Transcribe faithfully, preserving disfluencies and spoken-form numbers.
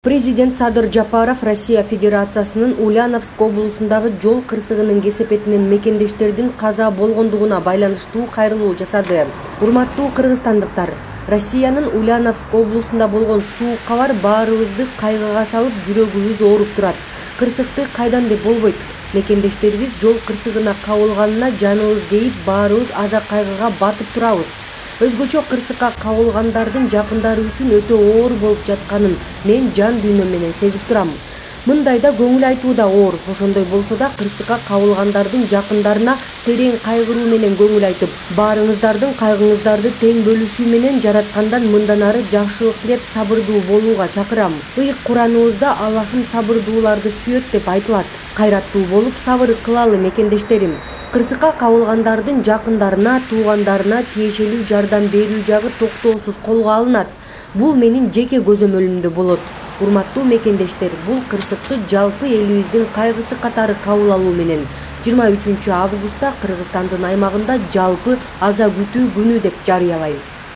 Президент Садыр Жапаров Россия Федерациясынын Ульяновск облусундагы жол кырсыгынын кесепетинен мекендештердин каза болгондугуна байланыштуу кайрылуу жасады. Урматтуу кыргызстандыктар, Россиянын Ульяновск облусунда болгон суук кабар баарыбызды кайгыга салып, жүрөгүбүз ооруп турат. Кырсыкты кайдан деп болбойт. Мекендештерибиз жол кырсыгына кабылганына жаныбыз кейип, баарыбыз аза кайгыга батып турабыз. Өзгөчө кырсыкка кабылгандардын жакындары үчүн өтө оор болуп жатканын мен жан дүйнөм менен сезип турам. Мындайда көңүл айтуу да оор, ошондой болсо да кырсыкка кабылгандардын жакындарына терең кайгыруу менен көңүл айтып, баарыңыздардын кайгыңыздарды тең бөлүшүү менен жараткандан мындан ары жакшылык тилеп сабырдуу болууга чакырам. Ыйык Кураныбызда Аллахым сабырдууларды сүйөт деп айтылат. Кайраттуу болуп сабыр кылалы мекендештерим. Кырсыкка кабылгандардын жакындарына, туугандарына тиешелүү жардам берүү жагы токтоосуз колго алынат. Бул менин жеке көзөмөлүмдө болот. Урматтуу мекендештер, бул кырсыкты жалпы элибиздин кайгысы катары кабыл алуу менен жыйырма үчүнчү августта Кыргызстандын аймагында жалпы аза күтүү күнү деп жарыялайм.